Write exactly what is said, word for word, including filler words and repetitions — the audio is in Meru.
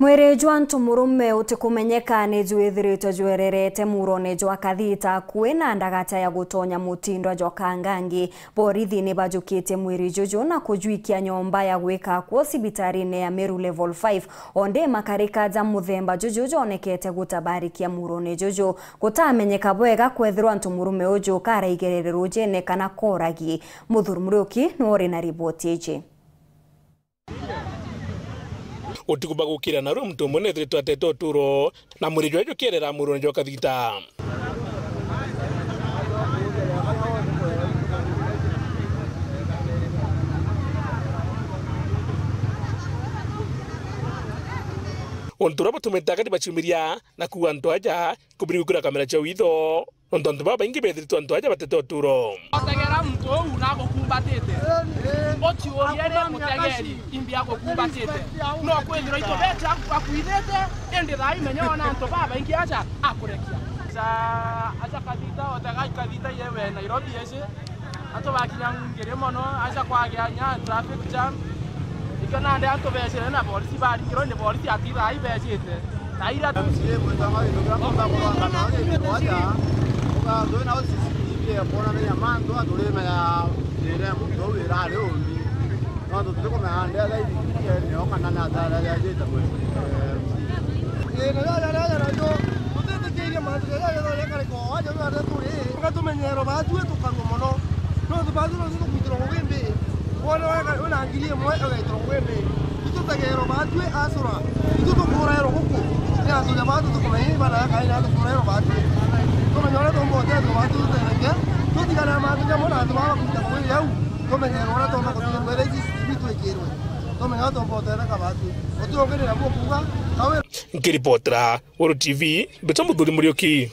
Mwiri jwa ntu murume utikumenyeka ni jwithiritwe jwererete murone jwa Kathita akui na ndagata ya gutonya mutindwa jwa Kangangi. Borithi ni bajukitie mwiri juju na kujwikia nyomba ya gwika akuo cibitarine ya Meru Level five. Onde makarika ja muthemba juju jonekete gutabarikia murone juju. Gutamenyeka bwega kwethirwa ntu murume uju karaigerere rujene kana koragi. Muthuri Muriuki niwe uri na riboti iji. Utuku bwa gukira narua muntu umwe neethiritwe atete uturo, na mwiri jwawe jukierera murone jwa Kathita. Untu uria butumite akari baciumiria na kuua antu aja kubiri gukira kamera cia witho. Nontu antu babaingi bethiritwe antu aja batete uturo. Otegera muntu uu na agukumbatite. Uciurie ri mutegeri, imbi agukumbatite. No kwithirwa itubete aku-, akuithite, indi thaa imenya ona antu babaingi aja akurekia. Aja, aja Kathita, otegai Kathita yewe Nairobi eci. Antu bakinya ngiri mono, aja kwagia nya traffic jam. Ikio nandi antu becire na borisi baringirwe ni borisi ati thaa ibecite. Thaa iria M C A mwitagwa Githuki akomba kurwanga na gikirwa aja, uga twina C C T V ya kwonanagia mantu, aturi menya ire muntu uu irari umbi. No tuti kumenya ndetha ithikiri nio kana na thara ya jita kwe. Ii, na jaja, jaja najo, tutitikiirie mantu jaja jathore kariko, aja ria turi, ngatumenyerwa batue tukarua mono. No tubatue no tukuitirwa ngugi mbi. Wona wega wina ngiri imwe, ugaitwa ngwende. Itu tegerwa batue acura. Itu tukurairwa guku. Ni antu ja batu tukumenya ibana ya kaina tukurairwa batue. Tumenye uria tumba utethwa batue tutereke. Tutigane na mantu jamwe na antu baba kuita kwiri au. Tumenye uria tumba kutigirwa ici itwikirwe. Tumenye uria tumba utetheka batue. Uti ungi ni nabu kuga. Kawe. Nkiripotera Uru T V, mbitwa Muthuri Muriuki.